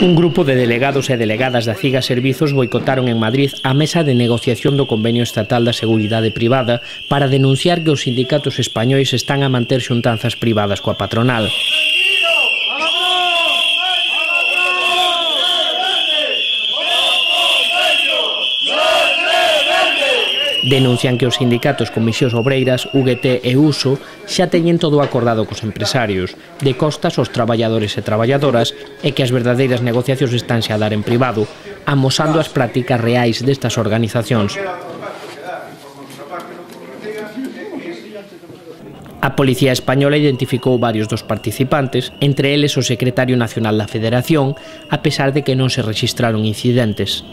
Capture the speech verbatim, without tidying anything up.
Un grupo de delegados e delegadas da CIGA Servizos boicotaron en Madrid a mesa de negociación do Convenio Estatal da Seguridade Privada para denunciar que os sindicatos españois están a manter xuntanzas privadas coa patronal. Denuncian que os sindicatos Comisións Obreiras, U G T e U S O xa teñen todo acordado cos empresarios, de costas aos traballadores e traballadoras, e que as verdadeiras negociacións estanse a dar en privado, amosando as prácticas reais destas organizacións. A Policía Española identificou varios dos participantes, entre eles o secretario nacional da Federación, a pesar de que non se rexistraron incidentes.